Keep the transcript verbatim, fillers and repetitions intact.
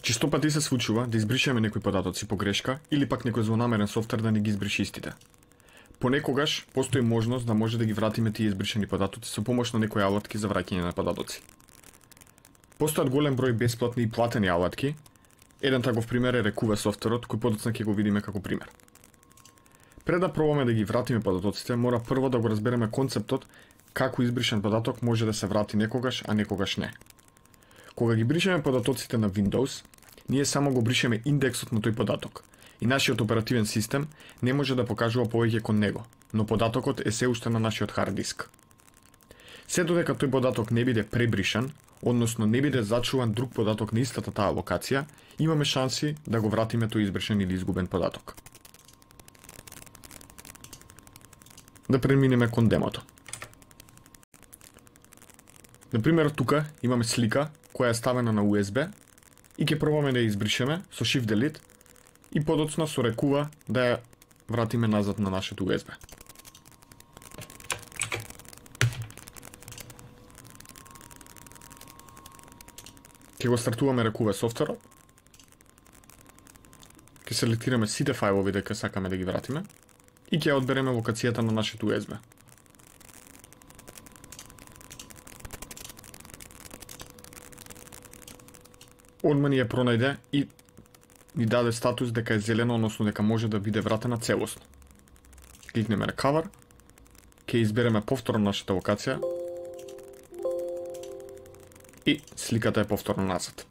Често пати се случува да избришеме некои податоци по грешка или пак некој злонамерен софтвер да не ги избриши истите. Понекогаш постои можност да може да ги вратиме тие избришени податоци со помош на некои алатки за враќање на податоци. Постојат голем број бесплатни и платени алатки. Еден таков пример е Рекува софтверот, кој подоцна ќе го видиме како пример. Пред да пробаме да ги вратиме податоците, мора прво да го разбереме концептот како избришен податок може да се врати некогаш, а некогаш не. Кога ги бришеме податоците на Windows, ние само го бришеме индексот на тој податок и нашиот оперативен систем не може да покажува повеќе кон него, но податокот е се уште на нашиот хард диск. Се додека тој податок не биде пребришан, односно не биде зачуван друг податок на истата таа локација, имаме шанси да го вратиме тој избришен или изгубен податок. Да преминеме кон демото. Например, тука имаме слика која е ставена на ю ес би и ќе пробаме да ја избришеме со Shift Delete и подоцна со Рекува да ја вратиме назад на нашето ю ес би. Ќе го стартуваме Рекува софтверот. Ќе селектираме сите фајлови дека сакаме да ги вратиме и ќе ја одбереме локацијата на нашето ю ес би. Одма ни ја пронајде и ни даде статус дека е зелено, односно дека може да биде вратена целосно. Кликнеме Recover, ќе избереме повторно нашата локација и сликата е повторно назад.